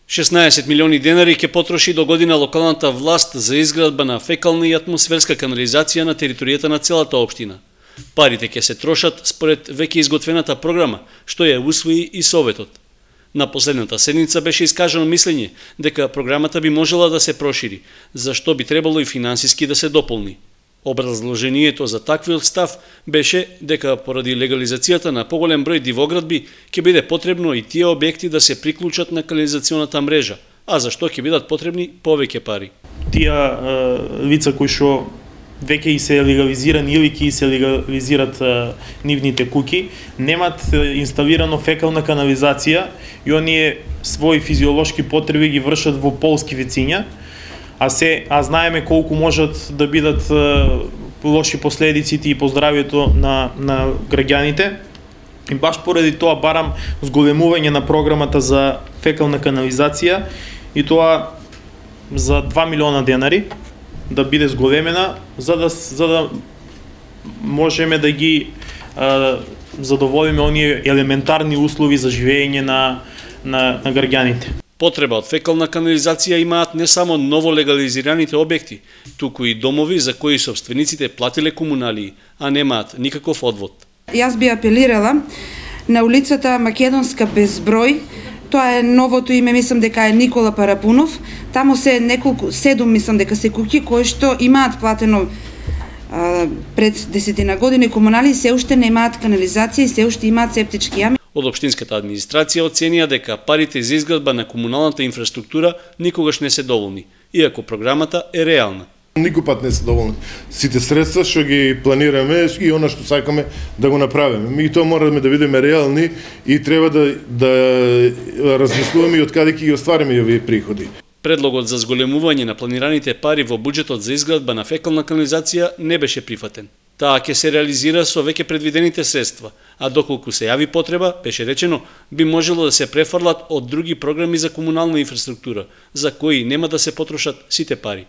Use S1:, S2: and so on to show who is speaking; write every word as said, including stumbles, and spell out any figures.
S1: шеснаесет милиони денари ќе потроши до година локалната власт за изградба на фекална и атмосферска канализација на територијата на целата општина. Парите ќе се трошат според веќе изготвената програма, што ја усвои и Советот. На последната седница беше искажано мислење дека програмата би можела да се прошири, зашто би требало и финансиски да се дополни. Образложението за таквиот став беше дека поради легализацијата на поголем број дивоградби ќе биде потребно и тие објекти да се приклучат на канализационата мрежа, а зашто ќе бидат потребни повеќе пари.
S2: Тие лица кои што веќе и се легализирани или ќе се легализират нивните куќи, немат инсталирано фекална канализација и оние своји физиолошки потреби ги вршат во полски вециња, а се а знаеме колку можат да бидат лоши последиците и по здравјето на на граѓаните. И баш поради тоа барам зголемување на програмата за фекална канализација и тоа за два милиона денари да биде зголемена за да за да можеме да ги а, задоволиме оние елементарни услови за живење на на на граѓаните.
S1: Потреба од фекална канализација имаат не само ново легализираните објекти, туку и домови за кои собствениците платиле комуналии, а немаат никаков одвод.
S3: Јас би апелирала на улицата Македонска безброј, тоа е новото име, мислам дека е Никола Парапунов, таму се неколку, седум мислам дека се куќи кои што имаат платено а, пред десетина години комуналии, се уште немаат канализација и се уште имаат септички јами.
S1: Од општинската администрација оценија дека парите за изградба на комуналната инфраструктура никогаш не се доволни, иако програмата е реална.
S4: Никој пат не се доволни. Сите средства што ги планираме и она што сакаме да го направиме. Ми тоа мораме да бидеме реални и треба да да размислуваме и од каде ќе ги оствариме овие приходи.
S1: Предлогот за зголемување на планираните пари во буџетот за изградба на фекална канализација не беше прифатен. Таа ќе се реализира со веќе предвидените средства, а доколку се јави потреба, беше речено, би можело да се префрлат од други програми за комунална инфраструктура, за кои нема да се потрошат сите пари.